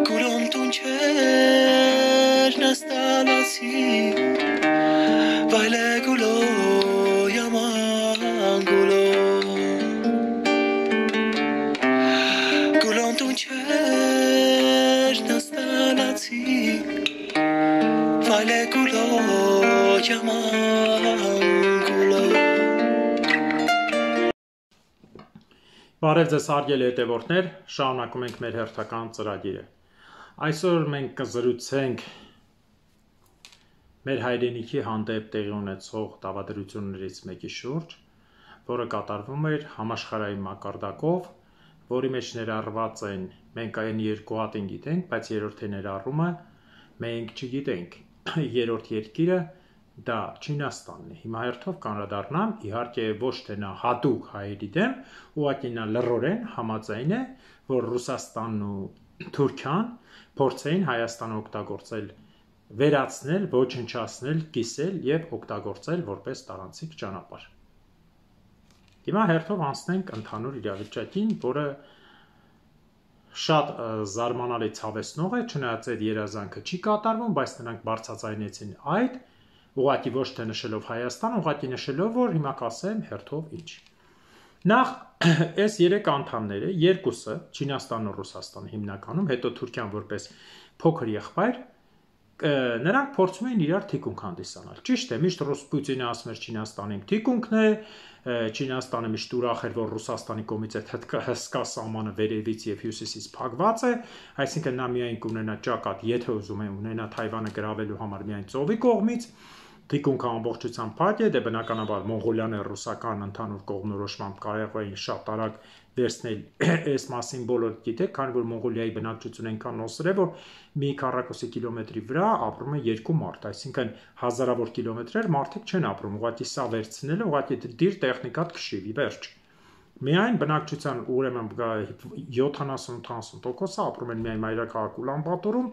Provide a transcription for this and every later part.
Գուրոմ տունչեր նստալացի Վայլե գուլո yaman գուլո Գուրոմ տունչեր նստալացի Վայլե գուլո yaman գուլո Բարև ձեզ հարգելի հետևորդներ, շարունակում ենք մեր հերթական ծրագիրը։ Այսօր մենք կզրուցենք մեր հայրենիքի հանդեպ տեղի ունեցող դավադրություններից մեկի շուրջ, որը կատարվում էր համաշխարհային մակարդակով, որի մեջ ներառված են մենք այն երկու հատին գիտենք, բայց երրորդը ներառումը մենք չգիտենք։ Երրորդ երկիրը դա Չինաստանն է։ Հիմա հերթով կանդրադառնամ, իհարկե ոչ թե նա հատուկ հայերի դեմ, ուղղակի նա լռորեն համաձայն է, որ Ռուսաստանն ու Թուրքիան փորձեին Հայաստանը օգտագործել, վերացնել, ոչնչացնել, կիսել եւ օգտագործել որպես տարանցիկ ճանապարհ։ Հիմա հերթով անցնենք ընդհանուր իրավիճակին, որը շատ զարմանալի ցավեցնող է, չնայած այդ երազանքը չի կատարվում, բայց նրանք բարձրաձայնեցին այդ ուղղակի ոչ թե նշելով Հայաստան, ուղղակի նշելով, որ հիմա կասեմ հերթով ինչ։ Նախ այս երեք անդամները, երկուսը, Չինաստանն ու Ռուսաստանը հիմնականում, հետո Թուրքիան որպես փոքր եղբայր, նրանք փորձում էին իրար թիկունք հանդիսանալ։ Ճիշտ է, միշտ Պուտինը ասում էր Չինաստանին թիկունքն է, Չինաստանը միշտ ուրախ էր, որ Ռուսաստանի կողմից այդ հսկա սահմանը վերևից եւ հյուսիսից փակված է, այսինքն նա միայն կունենա ճակատ, եթե ուզում է ունենա Թայվանը գրավելու համար միայն ծովի կողմից, թիկունքը ամբողջությամբ փակ է, դե բնականաբար Մոնղոլիան եւ ռուսական ընդհանուր կողմնորոշմամբ կարող էին շատ արագ վերցնել այս մասին բոլորը գիտեք, քանի որ Մոնղոլիայի բնակչությունը այնքան նոսր է, որ մի քառակուսի կիլոմետրի վրա ապրում է երկու մարդ, այսինքն հազարավոր կիլոմետրեր մարդիկ չեն ապրում, ուղղակի սա վերցնելը, ուղղակի դիր տեխնիկատ քշիվի, վերջ։ Միայն բնակչության ուրեմն 70-80% ապրում են միայն մայրաքաղաք Ուլանբաթորում,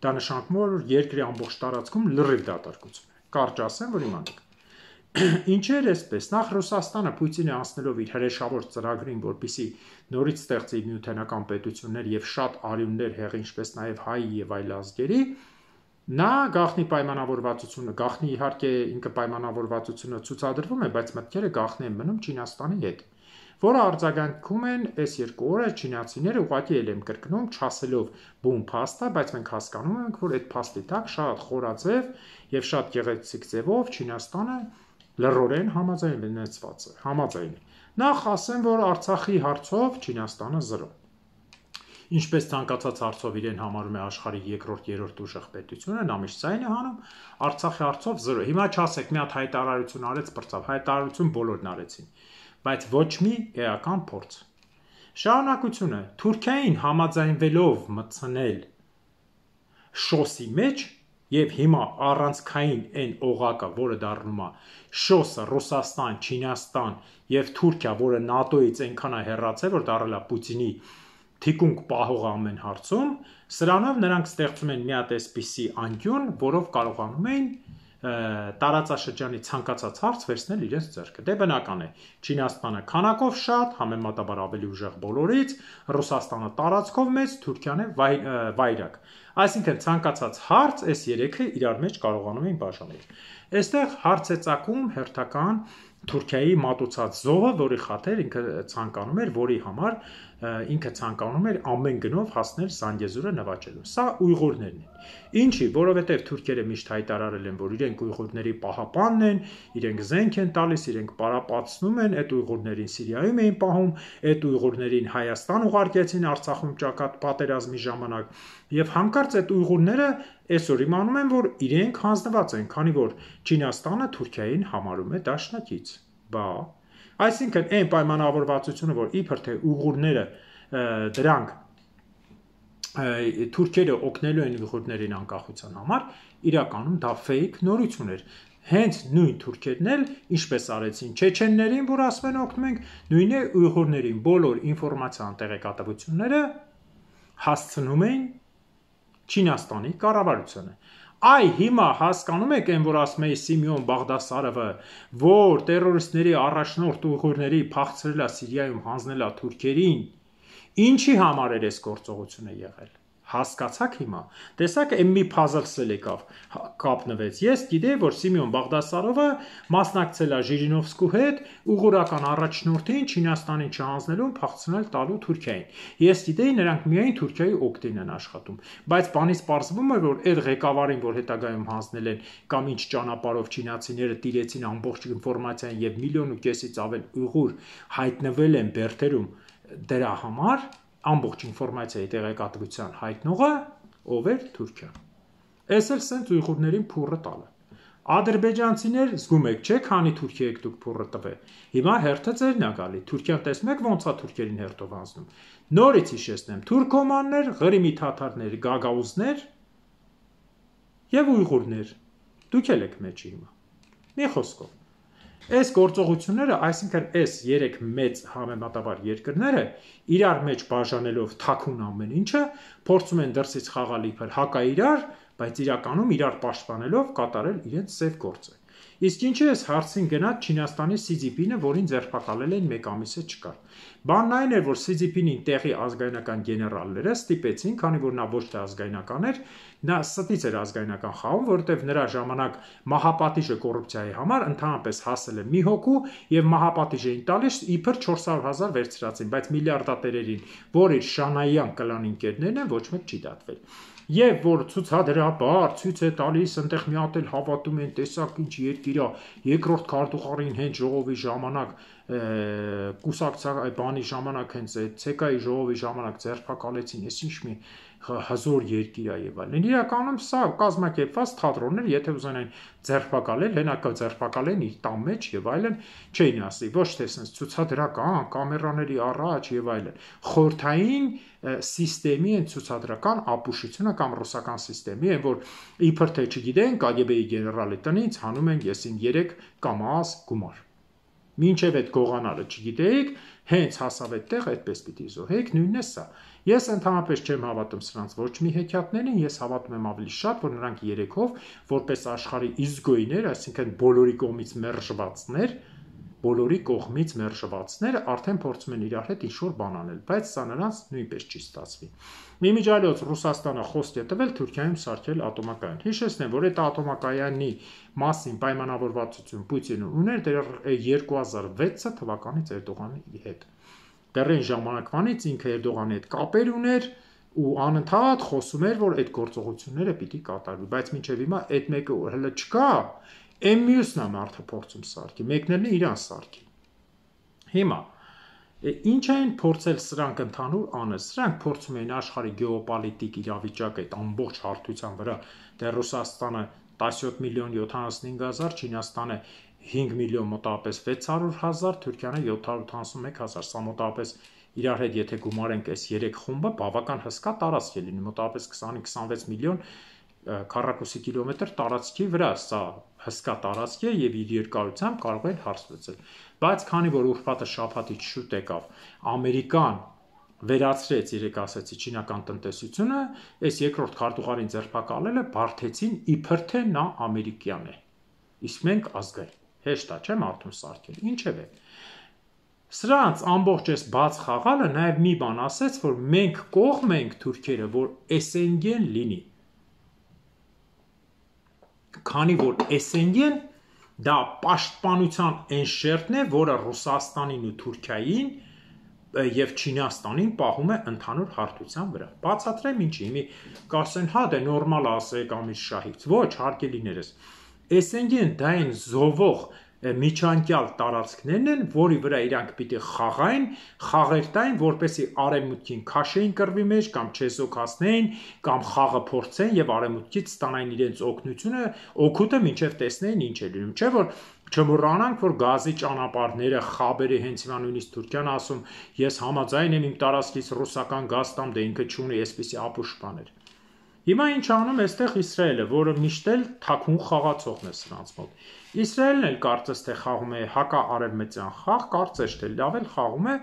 դա նշանակում է, որ երկրի ամբողջ տարածքում լրիվ դատարկություն է։ Կարճ ասեմ, որ իմանաք։ Ինչ էր այսպես, նախ Ռուսաստանը Պուտինը անցնելով իր հրեշավոր ծրագրին, որպեսզի նորից ստեղծի նյութենական պետություններ եւ շատ արյուններ հեղի, ինչպես նաեւ հայ եւ այլ ազգերի, նա գաղտնի պայմանավորվածությունը, գաղտնի իհարկե ինքը պայմանավորվածությունը ցուցադրվում է, բայց մտքերը գաղտնի են մնում Չինաստանի հետ, որը արձագանքում են այս երկու օրը չինացիները ուղղակի էլ են կրկնում, չասելով բուն փաստա, բայց մենք հասկանում ենք, որ այդ փաստի տակ շատ խորաձև եւ շատ գեղեցիկ ձևով Չինաստանը լռորեն համաձայնեցված է, համաձայն է։ Նախ ասեմ, որ Արցախի հարցով Չինաստանը 0։ Ինչպես ցանկացած հարցով իրեն համարում է աշխարհի երկրորդ, երրորդ ուժեղ պետությունը, նա միշտ այն է հանում, Արցախի հարցով 0։ Հիմա չասեք, մի հատ հայտարարություն արեց, բրծավ, հայտարարություն բոլորն արեցին, բայց ոչ մի էական փորձ։ Շարունակությունը Թուրքիային համաձայնվելով մտցնել շոսի մեջ եւ հիմա առանցքային այն օղակը, որը դառնում է շոսը Ռուսաստան, Չինաստան եւ Թուրքիա, որը ՆԱՏՕ-ից այնքան է հեռացել, որ դառել է Պուտինի թիկունք պահող ամեն հարցում, սրանով նրանք ստեղծում են մի հատ այսպիսի անկյուն, որով կարողանում են տարածաշրջանի ցանկացած հարց վերցնել իրենց ձեռքը։ Դե բնական է, Չինաստանը քանակով շատ, համեմատաբար ավելի ուժեղ բոլորից, Ռուսաստանը տարածքով մեծ, Թուրքիան է վայրակ։ Այսինքն ցանկացած հարց այս երեքը իրար մեջ կարողանում են բաժանել։ Այստեղ հարց է ծագում հերթական Թուրքիայի մատուցած զոհը, որի խաթեր ինքը ցանկանում էր, որի համար ինքը ցանկանում էր ամեն գնով հասնել Զանգեզուրը նվաճելու։ Սա ուйղուրներն են։ Ինչի, որովհետև թուրքերը միշտ հայտարարել են, որ իրենք ուйղուրների պահապանն են, իրենք զենք են տալիս, իրենք պարապացնում են, այդ ուйղուրներին Սիրիայում էին պահում, այդ ուйղուրներին Հայաստան ուղարկեցին Արցախում ճակատ պատերազմի ժամանակ, եւ հանկարծ այդ ուйղուրները այսօր իմանում են, որ իրենք հանձնված են, քանի որ Չինաստանը Թուրքիային համարում է դաշնակից։ Բա, այսինքն այն պայմանավորվածությունը, որ իբր թե ուйղուրները դրանք թուրքերը օգնելու են ուйղուրներին անկախության համար, իրականում դա ֆեյք նորություն էր։ Հենց նույն թուրքերն էլ, ինչպես արեցին չեչեններին, որ ասում են օգնում ենք, նույն է ուйղուրներին բոլոր ինֆորմացիան տեղեկատվությունները հասցնում են Չինաստանի կառավարությանը։ Այ հիմա հասկանում եք այն, որ ասում է Սիմեոն Բաղդասարովը, որ տերորիստների առաջնորդ ուйղուրների փախցրել է Սիրիայում, հանձնել է թուրքերին, Ինչի համար էր այս գործողությունը եղել։ Հասկացաք հիմա։ Տեսակ այն մի puzzle-ել եկավ, կապնվեց։ Ես գիտեի, որ Սիմեոն Բաղդասարովը մասնակցել է Ժիրինովսկու հետ ուղղորական առաջնորդին Չինաստանին չհանձնելուն փախցնել տալու Թուրքիային։ Ես գիտեի, նրանք միայն Թուրքիայի օգտին են աշխատում, բայց բանից պարզվում է, որ այդ ղեկավարին, որ հետագայում հանձնել են կամ ինչ ճանապարհով չինացիները տիրեցին ամբողջ ինֆորմացիան եւ 1.5 միլիոնից ավել ուղուր հայտնվել են Բերդերում դրա համար ամբողջ ինֆորմացիայի տեղեկատվության հայտնողը ով էր Թուրքիան։ Էս էլ սենց ուйղուրներին փուրը տալը։ Ադրբեջանցիներ զգում եք, չէ՞, քանի Թուրքիա եք դուք փուրը տվել։ Հիմա հերթը ձերն է գալի։ Թուրքիան տեսնում եք ոնց է թուրքերին հերթով հանձնում։ Նորից հիշեցնեմ, թուրքոմաններ, Ղրիմի թաթարներ, գագաուզներ եւ ուйղուրներ։ Դուք եք մեջի հիմա։ Մի խոսքով։ Այս գործողությունները, այսինքն այս 3 մեծ համեմատաբար երկրները իրար մեջ բաժանելով թաքուն ամեն ինչը փորձում են դրսից խաղալ իբր հակաիրար, բայց իրականում իրար պաշտպանելով կատարել իրենց սև գործը։ Իսկ ինչի էս հարցին գնաց Չինաստանի Սի Ցզինպինը, որին ձերբակալել են 1 ամիսը չկար։ Բանն այն էր, որ Սի Ցզինպինին տեղի ազգայնական գեներալները ստիպեցին, քանի որ նա ոչ թե ազգայնական էր, նա ստից էր ազգայնական խաղում, որովհետև նրա ժամանակ մահապատիժը կոռուպցիայի համար ընդհանրապես հասել է մի հոգու եւ մահապատիժ էին տալիս իբր 400,000 վերցրածին, բայց միլիարդատերերին, որ իր Շանայյան կլան ընկերներն են, ոչ մեկ չի դատվել։ Եվ որ ցուցադրաբար ցույց է տալիս, այնտեղ մի հատ էլ հավատում են, տեսակ ինչ երկիր է, երկրորդ քարտուղարին հենց ժողովի ժամանակ կուսակցական բանի ժամանակ հենց ՑԿ-ի ժողովի ժամանակ ձերբակալեցին, այս ինչ մի հզոր երկիր է եւ այլն։ Իրականում սա կազմակերպված թատրոններ, եթե ուզենային ձերբակալել, հենակը ձերբակալեն իր տան մեջ եւ այլն, չէին ասի, ոչ թե sense ցուցադրական կամերաների առաջ եւ այլն։ Խորթային սիստեմի են ցուցադրական ապուշությունը կամ ռուսական սիստեմի են, որ իբր թե չգիտեն, KGB-ի գեներալի տնից հանում են եսին 3 կամազ գումար։ Մինչև այդ գողանալը չգիտեիք, հենց հասավ այդտեղ այդպես պիտի զոհեիք, նույնն է սա։ Ես ընդհանրապես չեմ հավատում սրանց ոչ մի հեքիաթներին, ես հավատում եմ ավելի շատ, որ նրանք երեքով որպես աշխարհի իզգոյներ, այսինքն բոլորի կողմից մերժվածներ արդեն փորձում են իրար հետ ինչ-որ բան անել, բայց սա նրանց նույնպես չի ստացվի։ Իմիջիայլոց Ռուսաստանը խոսք է տվել Թուրքիայում սարքել ատոմակայան։ Հիշեցնեմ, որ այդ ատոմակայանի մասին պայմանավորվածություն Պուտինը ուներ դեռ 2006 թվականից Էրդողանի հետ։ Դեռ այն ժամանակվանից ինքը Էրդողանի հետ կապեր ուներ ու անընդհատ խոսում էր, որ այդ գործողությունները պիտի կատարվի, բայց մինչև հիմա այդ մեկը հələ չկա, այն մյուսն է մարդը փորձում սարքի, մեկն էլ իրան սարքի։ Հիմա ինչ են փորձել սրանք ընդհանուր անել, սրանք փորձում են աշխարհի գեոպոլիտիկ իրավիճակը այդ ամբողջ հարթության վրա, դեռ Ռուսաստանը 17 միլիոն 75,000, Չինաստանը 5 միլիոն մոտավորապես 600,000, Թուրքիանը 781,000, սա մոտավորապես իրար հետ եթե գումարենք այս 3 խումբը, բավական հսկա տարածք է լինի, մոտավորապես 20-26 միլիոն քառակուսի կիլոմետր տարածքի վրա, սա հսկա տարածք է եւ իր երկարությամբ կարող են հարց լուծել։ Բայց քանի որ ուրբաթը շաբաթից շուտ եկավ, Ամերիկան վերացրեց, երեք ասեցի, չինական տնտեսությունը, այս երկրորդ քարտուղարին ձերբակալելը բարթեցին իբր թե նա ամերիկյան է։ Իսկ մենք ազգային։ Հեշտ է, չէ՞ մարդուն սարքել։ Ինչև է։ Սրանց ամբողջ այս բաց խաղալը նաև մի բան ասեց, որ մենք կողմ ենք թուրքերը, որ SNG-ն լինի։ Քանի որ SNG-ն դա պաշտպանության այն շերտն է, որը Ռուսաստանին ու Թուրքիային եւ Չինաստանին պահում է ընդհանուր հարթության վրա։ Բացատրեմ ինչի, հիմի կասեն, հա դե նորմալ ասեք ամիր շահից։ Ոչ, հարգելիներս։ SNG-ն դա այն զովող միջանկյալ տարածքներն են, որի վրա իրանք պիտի խաղային, խաղեր տային, որպեսի արևմուտքին քաշեին կռվի մեջ կամ չեզոքացնեին, կամ խաղը փորձեն եւ արևմուտքից ստանային իրենց օգնությունը, օգուտը մինչեւ տեսնեին ինչ է լինում, չէ՞ որ չմոռանանք, որ գազի ճանապարհները, խաբերը հենց հիմա նույնիսկ Թուրքիան ասում, ես համաձայն եմ իմ տարածքից ռուսական գազ տամ, դե ինքը չունի այսպիսի ապուշ բաներ։ Հիմա ինչ անում այստեղ Իսրայելը, որը միշտ էլ թաքուն խաղացողն է սրանց մոտ։ Իսրայելն էլ կարծես թե խաղում է հակաարևմտյան խաղ, կարծես թե լավ էլ խաղում է,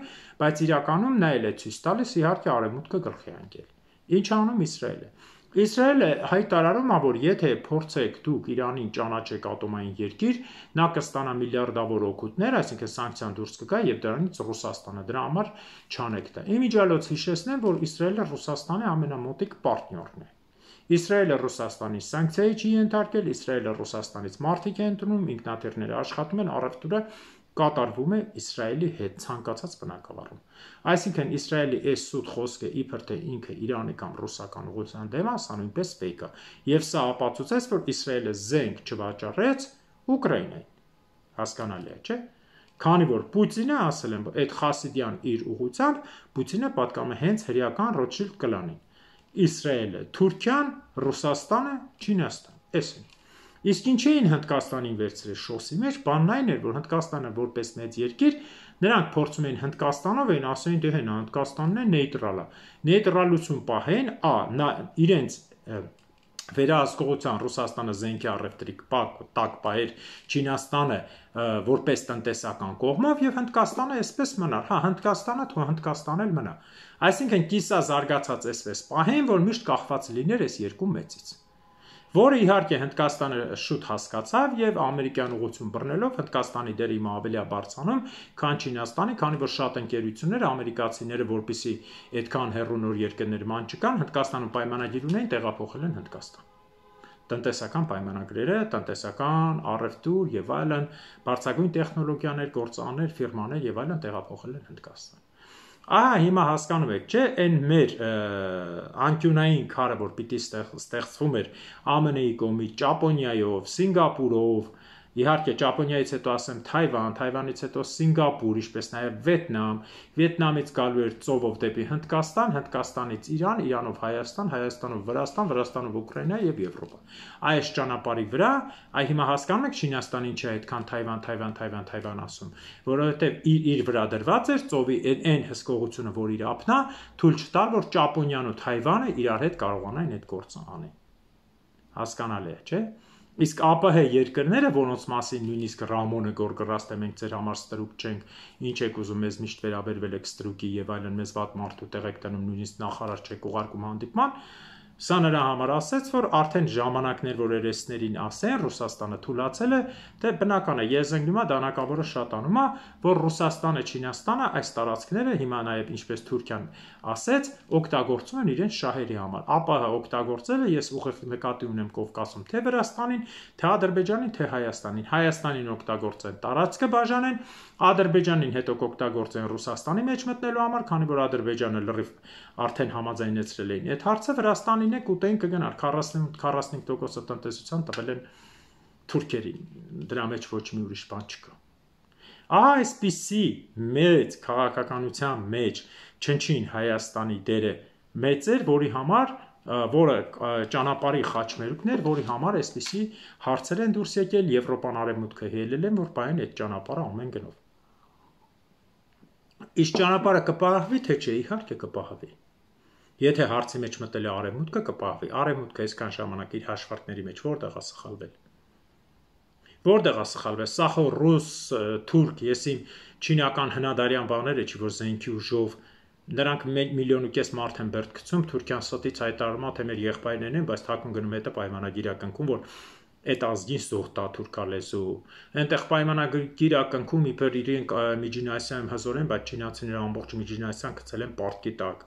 բայց իրականում նա էլ է ցույց տալիս իհարկե արևմուտքը գլխի ընկել։ Ինչ անում Իսրայելը։ Իսրայելը հայտարարում է, որ եթե փորձեք դուք Իրանին ճանաչեք ատոմային երկիր, նա կստանա միլիարդավոր օգուտներ, այսինքն սանկցիան դուրս կգա եւ դրանից Ռուսաստանը դրա համար չանեք դա։ Իմիջիալոց հիշեցնեմ, որ Իսրայելը Ռուսաստանի ամենամոտիկ պարտներն է։ Իսրայելը Ռուսաստանի սանկցիայի չի ենթարկել, Իսրայելը Ռուսաստանից մարդիկ են ընդունում, ինքնաթիռները աշխատում են, առևտուրը կատարվում է Իսրայելի հետ ցանկացած բնակավարում։ Այսինքն Իսրայելի այս սուտ խոսքը իբր թե ինքը Իրանի կամ ռուսական ուղղության դեմ է, սա նույնպես ֆեյք է։ Եվ սա ապացուցեց, որ Իսրայելը զենք չվաճառեց Ուկրաինային։ Հասկանալի է, չէ՞։ Քանի որ Պուտինը ասել են, այդ Խասիդյան իր ուղղությամբ Պուտինը պատկանում է հենց հրեական Ռոթշիլդ կլանին։ Իսրայելը, Թուրքիան, Ռուսաստանը, Չինաստան, այսին։ Իսկ ինչ էին Հնդկաստանին վերցրել շոսի մեջ, բանն այն էր, որ Հնդկաստանը որպես մեծ երկիր, նրանք փորձում էին Հնդկաստանով էին ասային, դե հենա Հնդկաստանն է նեյտրալ է։ Նեյտրալություն պահեն, նա իրենց վերահսկողության Ռուսաստանը զենքի առևտրի տակ պահեր Չինաստանը որպես տնտեսական կողմով եւ Հնդկաստանը այսպես մնար։ Հա, Հնդկաստանը թող Հնդկաստան էլ մնա։ Այսինքն կիսա զարգացած այսպես պահեն, որ միշտ կախված լիներ այս երկու մեծից։ Որը իհարկե Հնդկաստանը շուտ հասկացավ եւ ամերիկյան ուղղություն բռնելով Հնդկաստանի դերը հիմա ավելի է բարձրանում, քան Չինաստանի, քանի որ շատ ընկերություններ ամերիկացիները, որպեսզի այդքան հեռու նոր երկրներ ման չկան, Հնդկաստանում պայմանագիր ունեն, տեղափոխել են Հնդկաստան։ Տնտեսական պայմանագրերը, տնտեսական առևտուր եւ այլն, բարձրագույն տեխնոլոգիաներ, գործարաններ, ֆիրմաներ եւ այլն տեղափոխել են Հնդկաստան։ Ահա հիմա հասկանում եք, չէ՞, այն մեր անկյունային քարը, որ պիտի ստեղծվում էր ԱՄՆ-ի կողմից, Ճապոնիայով, Սինգապուրով, իհարկե Ճապոնիայից հետո ասեմ Թայվան, Թայվանից հետո Սինգապուր, ինչպես նաև Վիետնամ, Վիետնամից գալու էր ծովով դեպի Հնդկաստան, Հնդկաստանից Իրան, Իրանով Հայաստան, Հայաստանով Վրաստան, Վրաստանով Ուկրաինա եւ Եվրոպա։ Այս ճանապարհի վրա, հիմա հասկանում եք Չինաստանին չի այդքան Թայվան ասում, որովհետեւ իր վրա դրված էր ծովի այն հսկողությունը, որ իր ափնա, թույլ չտալ, որ Ճապոնիան ու Թայվանը իրար հետ կարողանային այդ գործը անել։ Հասկանալի է, չէ՞։ Իսկ ԱՊՀ երկրները, որոնց մասին նույնիսկ Ռամոնը գորգռաստ է, մենք ձեր համար ստրուկ չենք, ինչ եք ուզում, մեզ միշտ վերաբերվել եք ստրուկի եւ այլն, մեզ վատ մարդու տեղ եք տնում, նույնիսկ նախարար չեք ուղարկում հանդիպման, սա նրա համար ասեց, որ արդեն ժամանակներ, որ երեսներին ասեն, Ռուսաստանը թույլացել է, թե բնական է, եզենգնումա դանակավորը շատանում է, որ Ռուսաստանը, Չինաստանը այս տարածքները հիմա նաև ինչպես Թուրքիան ասեց, օգտագործում են իրենց շահերի համար։ ԱՊՀ օգտագործելը ես ուղիղ նկատի ունեմ Կովկասում, թե Վրաստանին, թե Ադրբեջանին, թե Հայաստանին։ Հայաստանին օգտագործեն տարածքը բաժանեն, Ադրբեջանին հետո կօգտագործեն Ռուսաստանի մեջ մտնելու համար, քանի որ Ադրբեջանը լրիվ արդեն համաձայնեցրել էին այդ հարցը, Վրաստանին է կուտեն կգնար 40-45% տնտեսության տվել են թուրքերին, դրա մեջ ոչ մի ուրիշ բան չկա։ Ահա այսպիսի մեծ քաղաքականության մեջ չնչին Հայաստանի դերը մեծ էր, որի համար որը ճանապարհի խաչմերուկն էր, որի համար այսպիսի հարցեր են դուրս եկել, Եվրոպան արևմուտքը հելել են, որ պահեն այդ ճանապարհը ամեն գնով։ Իսկ ճանապարհը կպահվի, թե չէ, իհարկե կպահվի։ Եթե հարցի մեջ մտել է արևմուտքը, կպահվի։ Արևմուտքը այսքան ժամանակ իր հաշվարկների մեջ որտեղ է սխալվել։ Որտեղ է սխալվել։ Սա խո ռուս, թուրք, եսիմ չինական հնադարյան բաները, չի որ զենքի ուժով նրանք 1,5 միլիոն մարդ են բերդ գցում, Թուրքիան ստից հայտարարում է, թե մեր եղբայրներն են, բայց թաքուն գնում հետը պայմանագիր ակնքում, որ այդ ազգին զոհ տա թուրքալեզու։ Այնտեղ պայմանագիր ակնքում իբր իրենք Միջին Ասիայում հզոր են, բայց չինացիները ամբողջ Միջին Ասիան գցել են պարտքի տակ։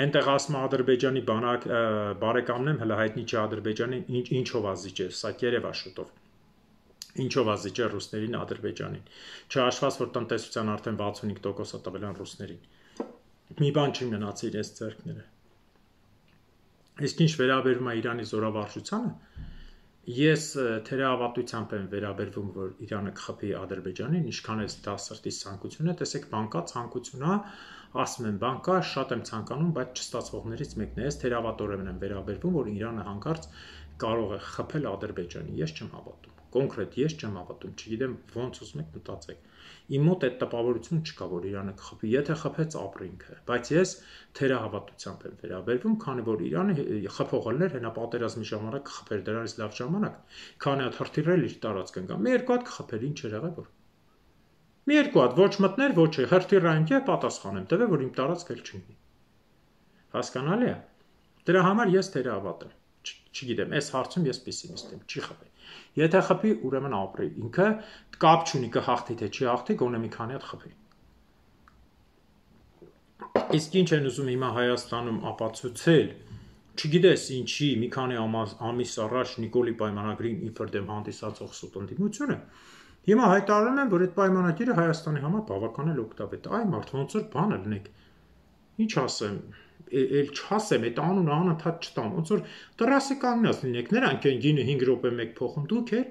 Այնտեղ ասում Ադրբեջանի բարեկամն եմ, հələ հայտնի չէ Ադրբեջանին ինչով ազիջել, սա երևա շուտով։ Ինչով ազիջել ռուսներին Ադրբեջանին։ Չհաշված, որ տնտեսության արդեն 65% տվել են ռուսներին։ Մի բան չի մնացել իրենց ձեռքները։ Իսկ ինչ վերաբերում է Իրանի զորավարժությանը, ես թերահավատությամբ եմ վերաբերվում, որ Իրանը կխփի Ադրբեջանին, ինչքան է դա սրտի ցանկություն է, տեսեք, բանկա ցանկություն է, ասում եմ բանկա, շատ եմ ցանկանում, բայց չստացվողներից մեկն է, ես թերահավատորեն եմ վերաբերվում, որ Իրանը հանկարծ կարող է խփել Ադրբեջանին, ես չեմ հավատում, կոնկրետ ես չեմ հավատում, չգիտեմ ոնց ուզում եք մտածեք։ Իմ մոտ այդ տպավորություն չկա, որ Իրանը կխփի, եթե խփեց ապրինքը, բայց ես թերահավատությամբ եմ վերաբերվում, քանի որ Իրանը խփողներ հենա պատերազմի ժամանակ կխփեր դրանից լավ ժամանակ, քանի հատ հրթիռել իր տարածք ընկա, մի երկու հատ կխփեր, ինչ էր եղել որ։ Մի երկու հատ ոչ մտներ, ոչ է, հրթիռային կե պատասխանեմ, տվե որ իմ տարածք էլ չընկնի։ Հասկանալի է։ Դրա համար ես թերահավատ եմ։ Չգիտեմ, այս հարցում ես պեսիմիստ եմ, չի խփի։ Եթե խփի, ուրեմն ապրի։ Ինքը կապ չունի կհաղթի թե չի հաղթի, գոնե մի քանի հատ խփի։ Իսկ ինչ են ուզում հիմա Հայաստանում ապացուցել, չգիտես ինչի, մի քանի ամիս առաջ Նիկոլի պայմանագրին իբր դեմ հանդիսացող սուտ ընդդիմությունը, հիմա հայտարարում են, որ այդ պայմանագիրը Հայաստանի համար բավական էլ օգտավետ է։ Այ մարդ ոնց որ բանը լինեք։ Ինչ ասեմ, էլ չասեմ, այդ անունը անընդհատ չտամ, ոնց որ տռասը կանգնած լինեք, նրանք են գինը 5 րոպե մեկ փոխում, դուք էլ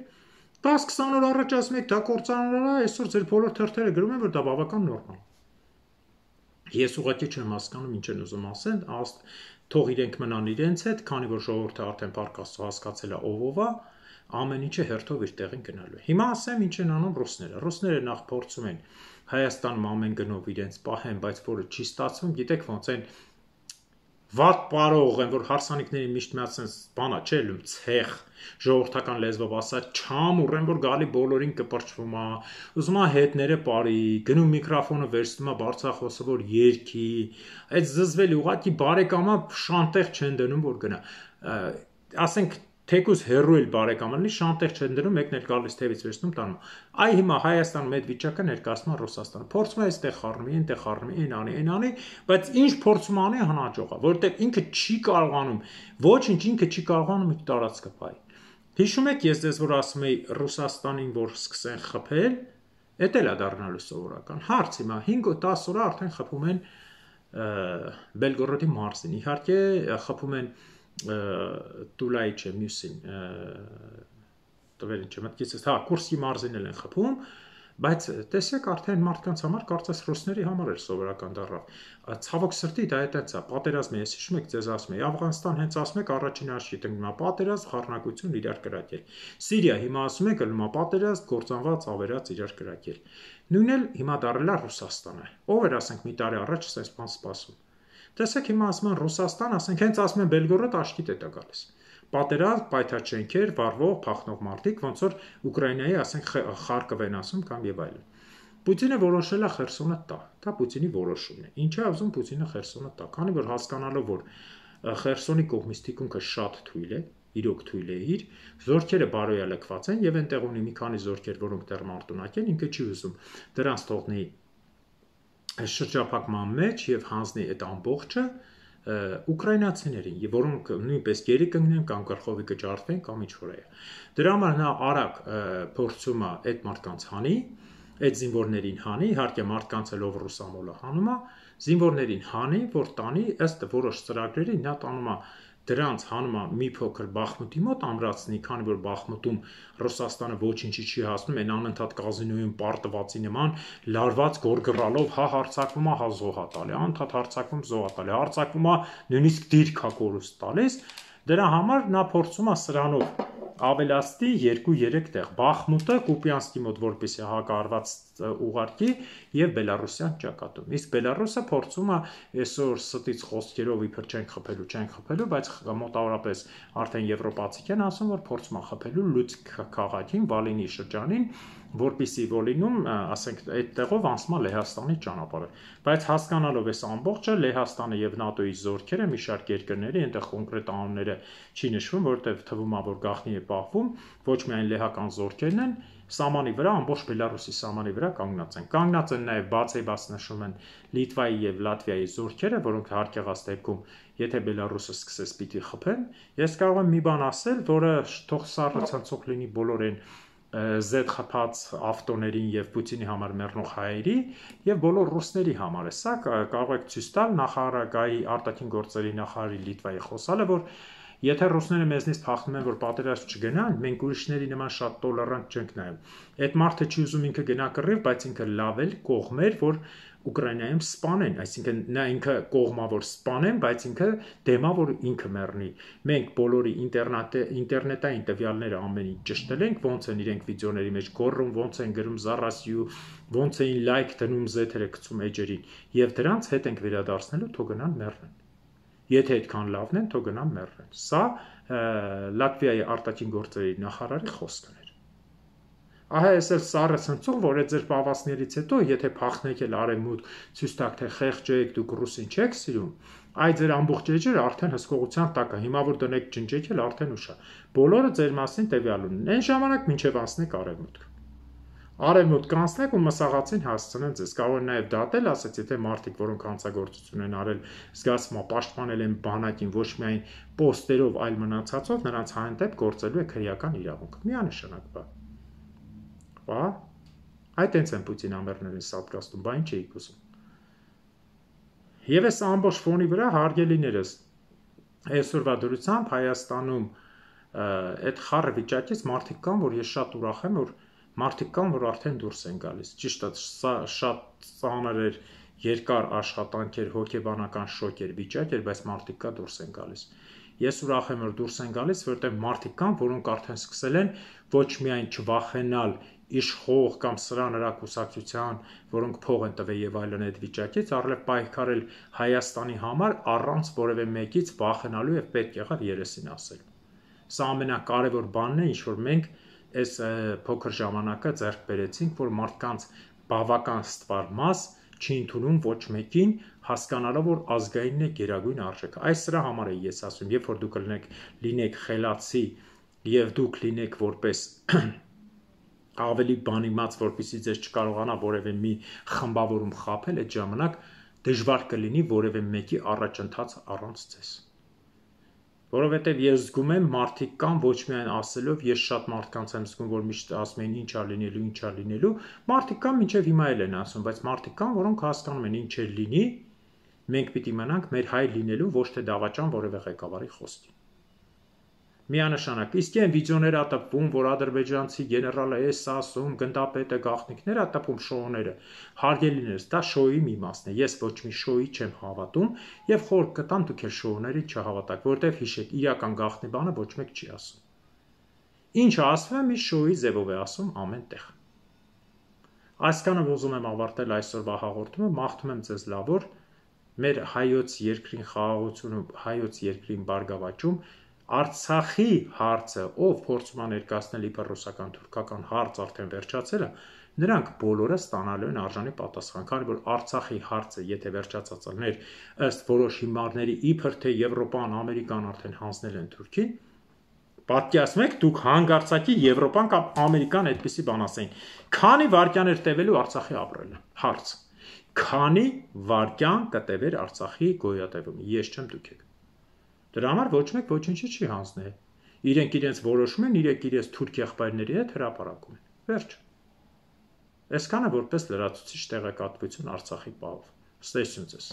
10-20 օր առաջ ասում եք դա կործանարար է, այսօր ձեր բոլոր թերթերը գրում են, որ դա բավական նորմալ։ Ես ուղղակի չեմ հասկանում ինչ են ուզում ասել, թող իրենք մնան իրենց հետ, քանի որ ժողովուրդը արդեն պարկաստո հասկացել է ով է, ամեն ինչը հերթով իր տեղին գնալու է։ Հիմա ասեմ ինչ են անում ռուսները։ Ռուսները նախ փորձում են Հայաստանում ամեն գնով իրենց պահեն, բայց որը չի ստացվում, գիտեք ոնց են վատ պարող են, որ հարսանիքների միշտ միացնեն բանա, չէ, լում ցեխ, ժողովրդական լեզվով ասած, չամ ուռեն, որ գալի բոլորին կպրճվում է, ուզում է հետները բարի, գնում միկրոֆոնը վերցնում է բարձրախոսը, որ երգի, այդ զզվելի ուղղակի բարեկամը շանտեղ չեն դնում, որ գնա։ Ասենք թեկուզ հերու էլ բարեկամը լինի, շանտեղ չեն դնում, մեկն էլ գալիս թևից վերցնում տանում։ Այ հիմա Հայաստանում այդ վիճակը ներկայացնում է Ռուսաստանը։ Փորձում է այստեղ խառնի, այնտեղ խառնի, այն անի, բայց ինչ փորձում անի հնաճող է, որտեղ ինքը չի կարողանում, ոչինչ ինքը չի կարողանում իր տարածքը փայ։ Հիշում եք, ես դες որ ասում էի Ռուսաստանին, որ սկսեն խփել, դա էլ է դառնալու սովորական։ Հարց հիմա 5-10 օր արդեն խփում են Բելգորոդի մարզին։ Իհարկե խփում են Տուլայի չէ, մյուսին տվերին չէ, մտքիցս, հա, Կուրսկի մարզին էլ են խփում, բայց տեսեք արդեն մարդկանց համար կարծես ռուսների համար էր սովորական դառավ։ Ցավոք սրտի դա այդպես է, պատերազմը, ես հիշում եք, ձեզ ասում եմ, Աֆղանստան հենց ասում եք առաջին հաշվի տնկնում է պատերազմ, խառնակություն իրար կրակել։ Սիրիա հիմա ասում եք ըլում է պատերազմ, կործանված, ավերած իրար կրակել։ Նույնն էլ հիմա դառել է Ռուսաստանը։ Ով էր ասենք մի տարի առաջ այս բան սպասում։ Տեսեք հիմա ասում են Ռուսաստան, ասենք հենց ասում են Բելգորոդ աշկիտ է դա գալիս։ Պատերազմ, պայթաչենքեր, վառվող, փախնող մարդիկ, ոնց որ Ուկրաինայի, ասենք Խարկով են ասում կամ եւ այլն։ Պուտինը որոշել է Խերսոնը տա։ Դա Պուտինի որոշումն է։ Ինչ է ուզում Պուտինը Խերսոնը տա, քանի որ հասկանալով որ Խերսոնի կողմից թիկունքը շատ թույլ է, իրոք թույլ է իր, զորքերը բարոյալքված են եւ այնտեղ ունի մի քանի զորքեր, որոնք դեռ մարտունակ են, ինքը չի ուզում դրանց թողնի շրջափակման մեջ եւ հանձնի այդ ամբողջը ուկրաինացիներին, եւ որոնք նույնպես գերի կընկնեն կամ գլխովի կջարդվեն կամ ինչ որ է։ Դրա համար նա արագ փորձում է այդ մարդկանց հանի, այդ զինվորներին հանի, իհարկե մարդկանց էլ ով ռուսամոլը հանում է, զինվորներին հանի, որ տանի ըստ որոշ ծրագրերի նա տանում է դրանց հանում է մի փոքր Բախմուտի մոտ ամրացնի, քանի որ Բախմուտում Ռուսաստանը ոչինչի չի հասնում, այն անընդհատ կազինոյում պարտվածի նման լարված գորգռալով հա հարձակվում է, հա զոհ է տալի, անընդհատ հարձակվում, զոհ է տալի, հարձակվում է, նույնիսկ դիրք է կորուստ տալիս, դրա համար նա փորձում է սրանով ավելացնի 2-3 տեղ Բախմուտը Կուպյանսկի մոտ որպեսի հակարված ուղարկի եւ Բելարուսյան ճակատում։ Իսկ Բելարուսը փորձում է այսօր ստից խոսքերով իբր չենք խփելու, բայց մոտավորապես արդեն եվրոպացիք են ասում, որ փորձում է խփելու Լուցկ քաղաքին, Վալինի շրջանին, որպեսի Վոլինում, ասենք, այդ տեղով անցնում է Լեհաստանի ճանապարհը։ Բայց հասկանալով այս ամբողջը Լեհաստանը եւ ՆԱՏՕ-ի զորքերը մի շարք երկրների, այնտեղ կոնկրետ անունները չի նշվում, որտեղ թվում է, որ գաղտնի է պահվում, ոչ միայն լեհական զորքերն են, սահմանի վրա, ամբողջ Բելարուսի սահմանի վրա կանգնած են։ Կանգնած են նաև բացեբաց նշում են Լիտվայի եւ Լատվիայի զորքերը, որոնք հարկեղած դեպքում, եթե Բելարուսը սկսես պիտի խփեն, ես կարող եմ մի բան ասել, որը թող սառը ցնցող լինի բոլորին Z խփած ավտոներին եւ Պուտինի համար մեռնող հայերի եւ բոլոր ռուսների համար է։ Սա կարող եք ցույց տալ նախարարի արտաքին գործերի նախարարի Լիտվայի խոսալը, որ եթե ռուսները մեզնից փախնում են, որ պատերազմ չգնան, մենք ուրիշների նման շատ տոլերանտ չենք նայում։ Այդ մարդը չի ուզում ինքը գնա կռիվ, բայց ինքը լավ էլ կողմեր, որ Ուկրաինայում սպանեն, այսինքն նա ինքը կողմա որ սպանեն, բայց ինքը դեմա որ ինքը մեռնի։ Մենք բոլորի ինտերնետային տվյալները ամեն ինչ ճշտել ենք, ոնց են իրենք վիդեոների մեջ գոռում, ոնց են գրում զառասյու, ոնց էին լայք դնում զեթերը գցում էջերին, եւ դրանց հետ ենք վերադարձնելու, թող գնան մեռնեն։ Եթե այդքան լավն են, թող գնան մեռնեն։ Սա Լատվիայի արտաքին գործերի նախարարի խոսքն էր։ Ահա այս էլ սառը ցնցող, որ այդ ձեր պավասներից հետո, եթե փախնեք էլ արևմուտք, ցույց տաք թե խեղճ եք, դուք ռուսին չեք սիրում, Այդ ձեր ամբողջ էջերը արդեն հսկողության տակ է։ Հիմա որ դնեք ջնջեք էլ արդեն ուշ է։ Բոլորը ձեր մասին տվյալ ունեն։ Այն ժամանակ մինչև անցնեք արևմուտք։ Արևմուտք կանցնեք ու մսաղացին հասցնեն ձեզ։ Կարող են նաև դատել, ասած, եթե մարդիկ, որոնք հանցագործություն են արել, զգացմա պաշտպանել են բանակին ոչ միայն պոստերով, այլ մնացածով, նրանց հանդեպ գործելու է քրեական իրավունք։ Միանշանակ բա։ Բա, այդ տենց են Պուտին ամերներին սատկաստում, բա ինչ էիք ուզում։ Եվ այս ամբողջ ֆոնի վրա հարգելիներս այսօրվա դրությամբ Հայաստանում այդ խառը վիճակից մարդիկ կան, որ ես շատ ուրախ եմ, որ մարդիկ կան, որ արդեն դուրս են գալիս։ Ճիշտ է, սա շատ ծանր էր, երկար աշխատանք էր, հոգեբանական շոկ էր, վիճակ էր, բայց մարդիկ կա դուրս են գալիս։ Ես ուրախ եմ, որ դուրս են գալիս, որտեղ մարդիկ կան, որոնք արդեն սկսել են ոչ միայն չվախենալ իշխող կամ սրա նրա կուսակցության, որոնք փող են տվել եւ այլն այդ վիճակից, առավել պայքարել Հայաստանի համար առանց որևէ մեկից վախենալու եւ պետք եղավ երեսին ասել։ Սա ամենակարևոր բանն է, ինչ որ մենք այս փոքր ժամանակը ձեռք բերեցինք, որ մարդկանց բավական ստվար մաս չի ընդունում ոչ մեկին, հասկանալով, որ ազգայինն է գերագույն արժեքը։ Այս սրա համար է ես ասում, երբ որ դուք լինեք խելացի եւ դուք լինեք որպես ավելի բանիմաց, որպեսզի ձեզ չկարողանա որևէ մի խմբավորում խաբել, այդ ժամանակ դժվար կլինի որևէ մեկի առաջընթաց առանց ձեզ։ Որովհետև ես զգում եմ մարդիկ կան ոչ միայն ասելով, ես շատ մարդկանց եմ զգում, որ միշտ ասում են ինչ է լինելու, ինչ է լինելու, մարդիկ կան մինչև հիմա էլ են ասում, բայց մարդիկ կան, որոնք հասկանում են ինչ է լինի, մենք պիտի մնանք մեր հայ լինելու, ոչ թե դավաճան որևէ ղեկավարի խոսքի։ Միանշանակ, իսկ այն վիդեոները ատպվում, որ ադրբեջանցի գեներալը էս ասում, գնդապետը, գաղտնիքները ատպում շոուները, հարգելիներս, դա շոուի մի մասն է։ Ես ոչ մի շոուի չեմ հավատում եւ խորհուրդ կտամ դուք էլ շոուների չհավատաք, որտեվ հիշեք, իրական գաղտնի բանը ոչ մեկ չի ասում։ Ինչը ասվում է, մի շոուի ձևով է ասում ամեն տեղ։ Այսքանը ուզում եմ ավարտել այսօրվա հաղորդումը, մաղթում եմ ձեզ լավ օր, մեր հայոց երկրին խաղաղություն ու հայոց երկրին բարգավաճում Արցախի հարցը, ով փորձում է ներկայացնել իբր ռուսական թուրքական հարց արդեն վերջացել է, նրանք բոլորը ստանալու են արժանի պատասխան, քանի որ Արցախի հարցը, եթե վերջացած լիներ, ըստ որոշ հիմարների իբր թե Եվրոպան, Ամերիկան արդեն հանձնել են Թուրքին, պատկերացնեք դուք հանգարցակի Եվրոպան կամ Ամերիկան այդպիսի բան ասեին, քանի վայրկյան էր տևելու Արցախի ապրելը, հարց, քանի վայրկյան կտևեր Արցախի գոյատևումը, ես չեմ դուք եք։ Դրա համար ոչ մեկ ոչինչի չի հանձնել։ Իրենք իրենց որոշում են, իրենք իրենց թուրք եղբայրների հետ հրապարակում են։ Վերջ։ Այսքանը որպես լրացուցիչ տեղեկատվություն Արցախի պահով։ Ստեսություն ձեզ։